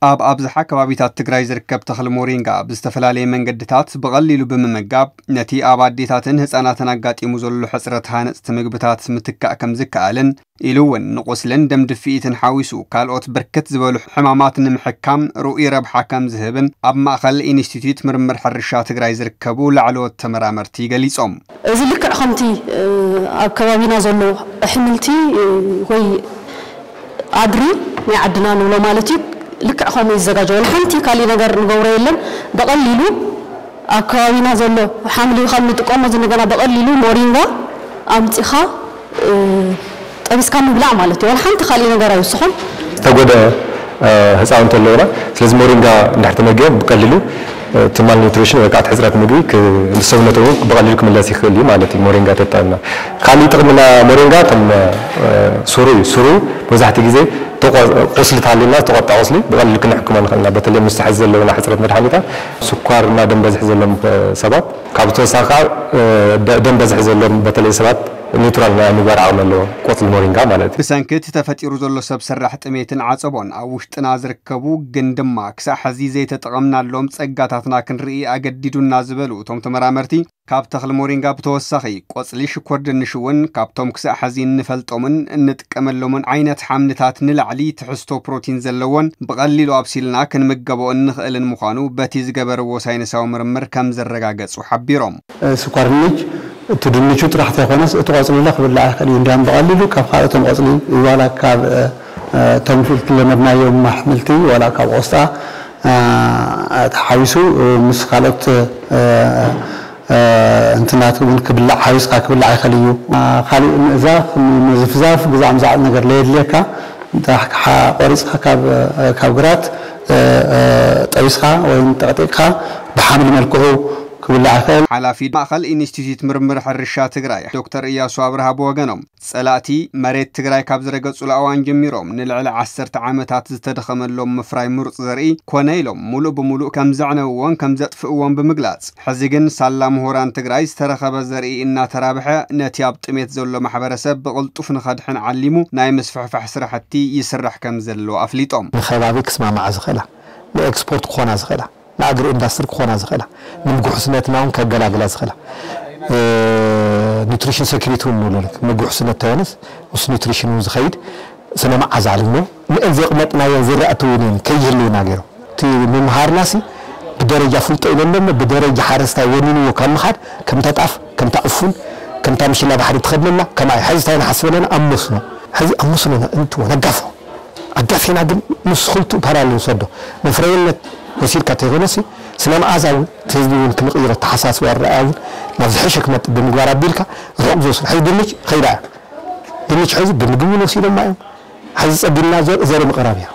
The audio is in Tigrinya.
ኣብ ኣብዝሓ ከባቢታት ትግራይ ዝርከብ ተኽሊ ሞሪንጋ ብዝተፈላለየ መንገድታት ብቐሊሉ ብምምጋብ፣ ነቲ ኣብ ኣዴታትን ህፃናትን ኣጋጢሙ ዘሎ ሕፅረት ሃነፅቲ ምግብታት ምትካእ ከም ዝከኣልን፣ ኢሉ እውን ንቁስልን ደም ድፍኢትን ሓዊሱ ካልኦት ብርክት ዝበሉ ሕማማት ንምሕካም ርኡይ ረብሓ ከም ዝህብን ኣብ ማእኸል ኢንስቲትዩት ምርምር ሕርሻ ትግራይ ዝርከቡ ላዕለዎት ተመራመርቲ ገሊፆም። እዚ ልክዕ ከምቲ፣ እ፣ ኣብ ከባቢና ዘሎ ኣሕምልቲ፣ እ፣ ወይ ኣድሪ ናይ ዓድና ንብሎ ማለት እዩ። ልክዕ ከምኡ ይዘጋጀ። ወላ ሓንቲ ካሊእ ነገር ንገብሮ የለን። ብቐሊሉ ኣብ ከባቢና ዘሎ ሓምሊ ካብ ንጥቀሞ ዝንገና ብቐሊሉ ሞሪንጋ ኣምጺኻ፣ እ፣ ጠቢስካ ምብላዕ ማለት እዩ። ወላ ሓንቲ ካሊእ ነገር ኣይውስኹን። ዝተጎድአ፣ እ፣ ህፃውንቲ ኣለውና። ስለዚ ሞሪንጋ እንድሕር ተመጊቦም ብቐሊሉ፣ እ፣ እቲ ማልኒትሪሽን ወይ ከዓ እቲ ሕፅረት ምግቢ ክ-፣ ንሰውነቶም እውን ብቐሊሉ ክምለስ ይኽእል እዩ ማለት እዩ። ሞሪንጋ ተጠቐምና ካሊእ ጥቕምና ሞሪንጋ ከም፣ እ፣ ሱሩ እዩ። ሱሩ መብዛሕትኡ ግዜ ተቆ-፣ ቁስሊ ተሃልዩና ዝተቆጣ ቁስሊ ብቐሊሉ ክንሕክሞ ንኽእል ኢና። በተለይ ምስ ሕዚ ዘለውና ሕፅረት መድሓኒታት ስኳር እና ደም በዝሒ ዘለዎም፣ እ፣ ሰባት ካብ ተወሳኺ ከዓ፣ እ፣ ደ-፣ ደም በዝሒ ዘለዎም በተለይ ሰባት ኒውትራል ናይ ምግባር ዓቕሚ ኣለዎ ቆፅሊ ሞሪንጋ ማለት እዩ። ብሰንኪ እቲ ተፈጢሩ ዘሎ ሰብ ሰራሕ ጥሜትን ዓፀቦን ኣብ ውሽጥና ዝርከቡ ግን ድማ ክሳዕ ሕዚ ዘይተጠቐምናሎም ጸጋታትና ክንርኢ ኣገዲዱና ዝበሉ እቶም ተመራመርቲ፣ ካብ ተኽሊ ሞሪንጋ ብተወሳኺ ቆጽሊ ሽኮር ድንሽ እውን ካብቶም ክሳዕ ሕዚ እንፈልጦምን እንጥቀመሎምን ዓይነት ሓምልታት ንላዕሊ ትሕዝቶ ፕሮቲን ዘለዎን ብቐሊሉ ኣብሲልና ክንምገቦ እንኽእልን ምዃኑ በቲ ዝገበርዎ ሳይንሳዊ ምርምር ከም ዘረጋገጹ ሓቢሮም። ስኳር ድንች እቲ ድንቹ ጥራሕ ተይኮነስ እቲ ቆጽሊ ለ ክብላዕ ይኽእል እዩ። እንዲያም ብቐሊሉ ካብ ካልኦቶም ቆጽሊ ዋላ ካብ፣ እ፣ እቶም ዝለመድናዮም ኣሕምልቲ ዋላ ካብ ቆስጣ፣ እ፣ ተሓዊሱ ምስ ካልኦት፣ እ፣ እ፣ እንትናት እውን ክብላዕ ሓዊስካ ክብላዕ ይኽእል እዩ። እ፣ ካሊእ ምእዛፍ፣ ምዝፍዛፍ፣ ግዛዕ ምዛዕ ነገር ለየድልየካ። እንተ ሓ-፣ ቆሪጽካ ካብ፣ ካብ ግራት፣ እ፣ እ፣ ጠቢስካ ወይ ጠቕጢቕካ ብሓምሊ መልክዑ ክብላዕ ይኽእል። ሓላፊ ማእኸል ኢንስቲትዩት ምርምር ሕርሻ ትግራይ ዶክተር እያሱ ኣብርሃ ብወገኖም፣ ጸላእቲ መሬት ትግራይ ካብ ዝረገጹሉ እዋን ጀሚሮም ንልዕሊ ዓሰርተ ዓመታት ዝተደኸመሎም ምፍራይ ምሩጽ ዘርኢ ኮነ ኢሎም ሙሉእ ብሙሉእ ከም ዘዕነውዎን ከም ዘጥፍእዎን ብምግላጽ፣ ሕዚ ግን ሳላ ምሁራን ትግራይ ዝተረኸበ ዘርኢ እናተራብሐ ነቲ ኣብ ጥሜት ዘሎ ማሕበረሰብ ብቕልጡፍ ንኸድሕን ዓሊሙ ናይ ምስፍሕፋሕ ስራሕቲ ይስራሕ ከም ዘሎ ኣፍሊጦም። ንከባቢ ክስማማዓ ዝኽእላ፣ ንኤክስፖርት ክኾና ዝኽእላ፣ ንኣግሮ ኢንዳስትሪ ክኾና ዝኽእላ፣ ንምጉሕስነትና እውን ከገላግላ ዝኽእላ፣ እ፣ ኒትሪሽን ሴኩሪቲ እውን ንብሎ፣ ምግቢ ውሕስነት ተይኮነስ ምስ ኒትሪሽን እውን ዝኸይድ ስነ መዓዛ ኣለዎ። ንእን ዘቕመጥናዮ ዝራእቲ እውን እየን ከይህልውና ገይሮም። እቲ ምምሃርናሲ ብደረጃ ፍልጦ ኢለ ኣለሞ፣ ብደረጃ ሓረስታይ ወኒንዎ ካብ ምኻድ፣ ከምታ ጣፍ፣ ከምታ ዕፉን፣ ከምታ ምሽላ ባሕሪ ትኸድለና፣ ከምኣ እዩ። ሕዚ እንታይ ንሓስብ ኣለና? ኣብ መስኖ። ሕዚ ኣብ መስኖ ን-፣ እንትዎ ነጋፎ። ኣጋፊና ግን ምስ ክልቲኡ ፓራል ንውሰዶ። መፍረይነት ወሲድካ ተይኮነሲ፣ ስነ መዓዛ እውን፣ እቲ ህዝቢ እውን ክንቕይሮ፣ ኣተሓሳስባ ኣረኣእያ እውን ናብ ዝሐሸ ክመጥእ ብምግባር ኣቢልካ ርሑቕ ዝወስድ። ሕዚ ድንች ኸይዳ እያ። ድንች ሕዚ ብምግቢ እውን ወሲዶማ እዮም። ሕዚ ጸጊምና ዘር-፣ ዘርኢ ምቕራብ እያ።